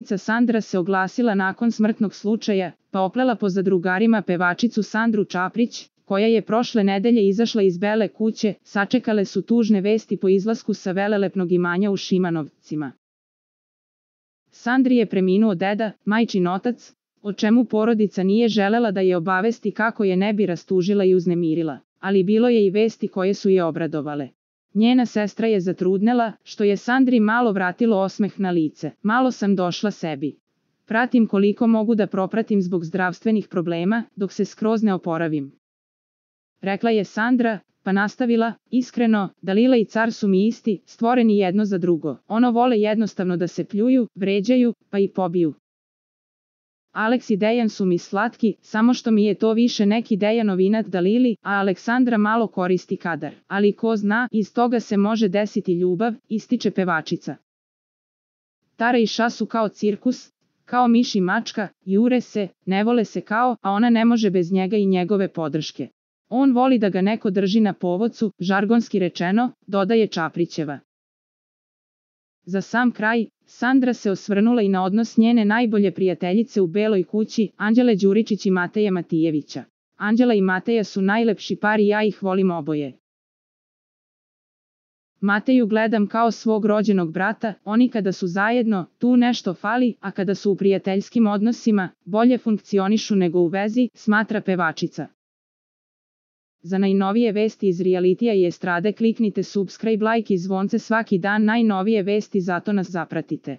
Sandra se oglasila nakon smrtnog slučaja, pa oplela po zadrugarima pevačicu Sandru Čaprić, koja je prošle nedelje izašla iz Bele kuće. Sačekale su tužne vesti po izlasku sa velelepnog imanja u Šimanovcima. Sandri je preminuo deda, majčin otac, o čemu porodica nije želela da je obavesti kako je ne bi rastužila i uznemirila, ali bilo je i vesti koje su je obradovale. Njena sestra je zatrudnela, što je Sandri malo vratilo osmeh na lice. Malo sam došla sebi. Pratim koliko mogu da propratim zbog zdravstvenih problema, dok se skroz ne oporavim. Rekla je Sandra, pa nastavila, iskreno, Dalila i car su mi isti, stvoreni jedno za drugo. Ono vole jednostavno da se pljuju, vređaju, pa i pobiju. Alex i Dejan su mi slatki, samo što mi je to više neki Dejanov inat Dalili, a Aleksandra malo koristi kadar. Ali ko zna, iz toga se može desiti ljubav, ističe pevačica. Tara i Ša su kao cirkus, kao miš i mačka, jure se, ne vole se kao, a ona ne može bez njega i njegove podrške. On voli da ga neko drži na povodcu, žargonski rečeno, dodaje Čaprićeva. Za sam kraj, Sandra se osvrnula i na odnos njene najbolje prijateljice u Beloj kući, Anđele Đuričić i Mateja Matijevića. Anđela i Mateja su najlepši par i ja ih volim oboje. Mateju gledam kao svog rođenog brata, oni kada su zajedno, tu nešto fali, a kada su u prijateljskim odnosima, bolje funkcionišu nego u vezi, smatra pevačica. Za najnovije vesti iz realitija i estrade kliknite subscribe, like i zvonce svaki dan. Najnovije vesti, zato nas zapratite.